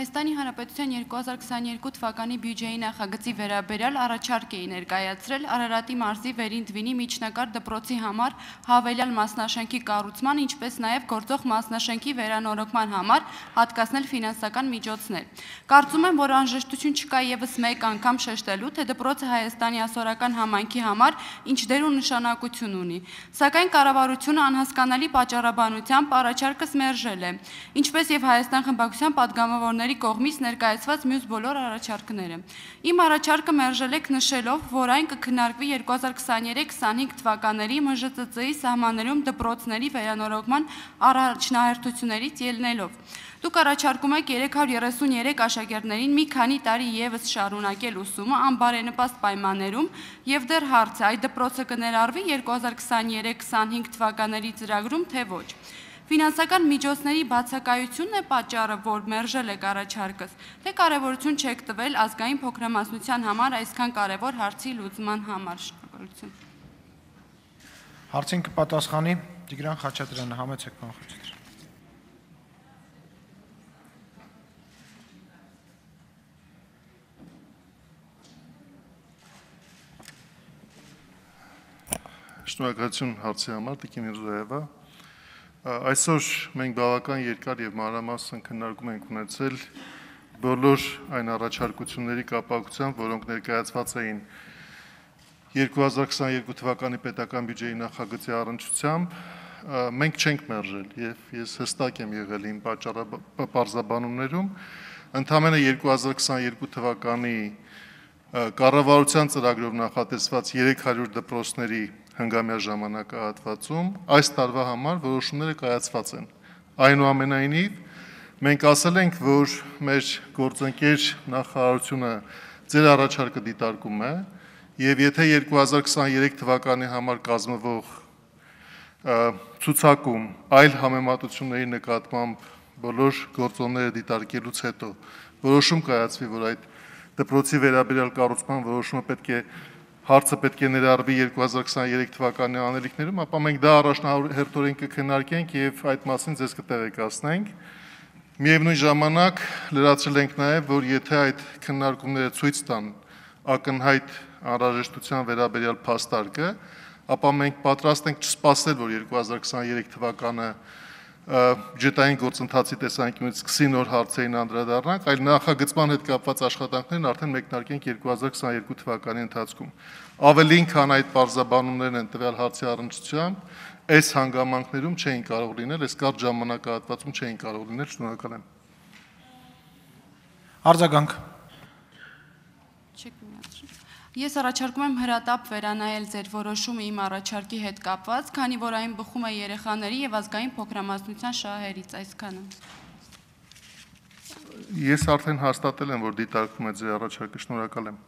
Հայաստանի Հանրապետության 2022 թվականի բյուջեի նախագծի վերաբերյալ առաջարկ էի ներկայացրել Արարատի մարզի Վերին Դվինի միջնակարգ դպրոցի համար հավելյալ մասնաշենքի կառուցման, ինչպես նաև գործող մասնաշենքի վերանորոգման համար հատկացնել ֆինանսական միջոցներ։ Կարծում եմ, որ անհրաժեշտություն չկա ևս մեկ անգամ շեշտելու, թե դպրոցը Հայաստանի ասորական համայնքի համար ինչ դեր ու նշանակություն ունի։ Սակայն կառավարությունը անհասկանալի պատճառաբանությամբ առաջարկս մերժել է, ինչպես եւ Հայաստան խմբակցության պատգամավորների կողմից ներկայացված մյուս բոլոր առաջարկները։ Իմ առաջարկը մերժել եք նշելով, որ այն կքննարկվի 2023-25 թվականների ՄԺԾԾ-ի սահմաններում դպրոցների վերանորոգման առաջնահերթություններից ելնելով։ Դուք առաջարկում եք 333 աշակերտներին մի քանի տարի ևս շարունակել ուսումը անբարենպաստ պայմաններում եւ դեռ հարց է, այդ դպրոցը կներառվի 2023-25 թվականների ծրագրում, թե ոչ։ Ֆինանսական միջոցների բացակայությունն է պատճառը, որ մերժել եք առաջարկս, թե կարևորություն չեք տվել ազգային փոքրամասնության համար այսքան կարևոր հարցի լուծման համար։ Շնորհակալություն։ Հարցին կպատասխանի Տիգրան Խաչատրյանը, համեցեք պարոն Խաչատրյան։ Շնորհակալություն հարցի համար, Տիկին Միրզոևա։ Այսօր մենք բավական երկար եւ մանրամասն քննարկում ենք ունեցել բոլոր այն առաջարկությունների կապակցությամբ, որոնք ներկայացված էին 2022 թվականի պետական բյուջեի նախագծի առնչությամբ, մենք չենք մերժել եւ ես հստակ եմ եղել իմ պարզաբանումներում, ընդամենը 2022 թվականի կառավարության ծրագրով նախատեսված 300 դպրոցների հնգամյա ժամանակահատվածում այս տարվա համար որոշումները կայացված են։ Այնուամենայնիվ, մենք ասել ենք, որ մեր գործընկեր նախարարությունը ձեր առաջարկը դիտարկում է եւ եթե 2023 թվականի համար կազմվող ցուցակում այլ համեմատությունների նկատմամբ բոլոր գործոնները դիտարկելուց հետո որոշում կայացվի, որ այդ դպրոցի վերաբերյալ կառուցման որոշումը հարցը պետք է ներառվի 2023 թվականի անելիքներում, ապա մենք դա առաջնահերթորեն կքննարկենք եւ այդ մասին ձեզ կտեղեկացնենք։ Միևնույն ժամանակ լրացրել ենք նաեւ, որ եթե այդ քննարկումները ցույց տան ակնհայտ անհրաժեշտության վերաբերյալ փաստարկը, ապա մենք պատրաստ ենք չսպասել, որ 2023 թվականը բյուջետային գործընթացի տեսանկյունից սկսի նոր հարցերին անդրադառնանք, այլ նախագծման հետ կապված աշխատանքներն արդեն մեկնարկենք 2022 թվականի ընթացքում։ Ավելին, քան այդ պարզաբանումներն են տվյալ հարցի առնչությամբ, այս հանգամանքներում չէին կարող լինել, այս կարճ ժամանակահատվածում չէին կարող լինել, շնորհակալ եմ։ Արձագանք։ Ես առաջարկում եմ հրատապ վերանայել ձեր որոշումը իմ առաջարկի հետ կապված, քանի որ այն բխում է երեխաների եւ ազգային փոքրամասնության շահերից, այսքանը։ Ես արդեն հաստատել եմ, որ դիտարկվում է ձեր առաջարկը, շնորհակալ եմ։